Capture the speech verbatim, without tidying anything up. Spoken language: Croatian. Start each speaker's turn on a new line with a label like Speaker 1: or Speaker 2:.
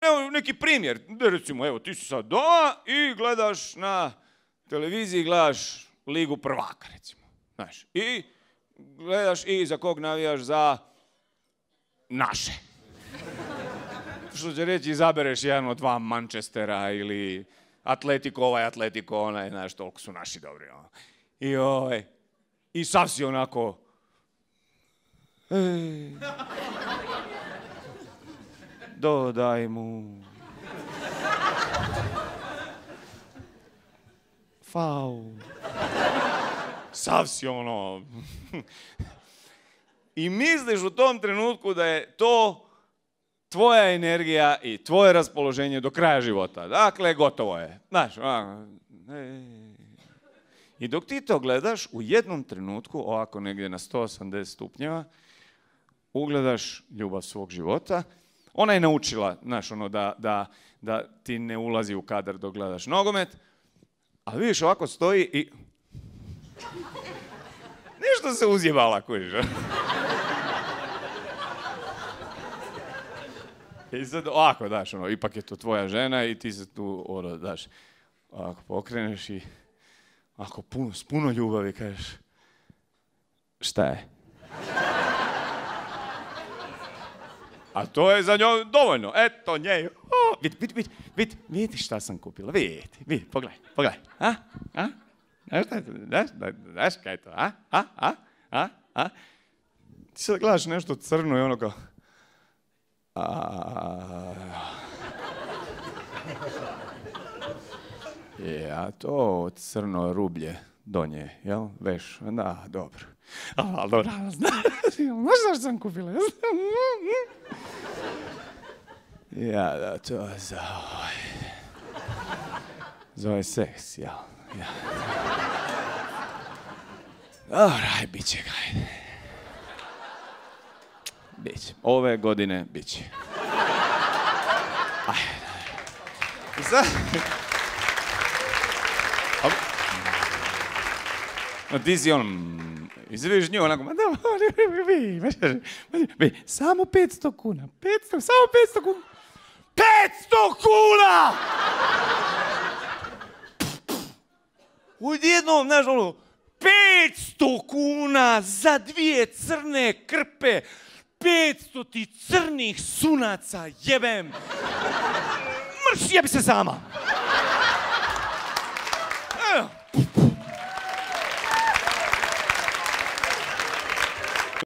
Speaker 1: Evo neki primjer, recimo, evo, ti si sad doma i gledaš na televiziji, gledaš Ligu prvaka, recimo. Znaš, i gledaš i za kog navijaš za naše. Što će reći, izabereš jedan od dva Manchestera ili Atletico ovaj, Atletico onaj, znaš, toliko su naši dobri. Ono. I ovaj, i sav si onako... Ej, dodaj mu... Faul. Sav si ono... I misliš u tom trenutku da je to tvoja energija i tvoje raspoloženje do kraja života. Dakle, gotovo je. Znaš, i dok ti to gledaš, u jednom trenutku, ovako negdje na sto osamdeset stupnjeva, ugledaš ljubav svog života. Ona je naučila, znaš, ono, da, da, da ti ne ulazi u kadar dok gledaš nogomet, ali vidiš, ovako stoji i... Nešto se uzjevala, kužiš. I sad ovako, daš, ono, ipak je to tvoja žena i ti se tu, ono, daš, ovako pokreneš i ovako puno, s puno ljubavi kažeš, šta je? A to je za njoj dovoljno, eto nje, oh, vidi, vidi, vidi, vidi, vidi šta sam kupila, vidi, vidi, pogledaj, pogledaj, a, a, znaš šta je to, znaš, znaš kaj je to, a, a, a, a, a, ti sad gledaš nešto crno i ono kao, je, a to crno rublje do nje, jel? Veš, da, dobro. A, dobro, znaš što sam kupila? Ja, da, to je za ovaj... Za ovaj seks, jel? Ja. Dobro, aj, bit će ga, ajde. Biće. Ove godine biće. I sad... No, ti si on... Izviš nju onako... Samo petsto kuna. petsto, samo petsto kuna. petsto kuna! Odjednom, znaš, ono... petsto kuna za dvije crne krpe. petsto ti crnih sunaca, jebem! Mrš, jebi se sama! Evo.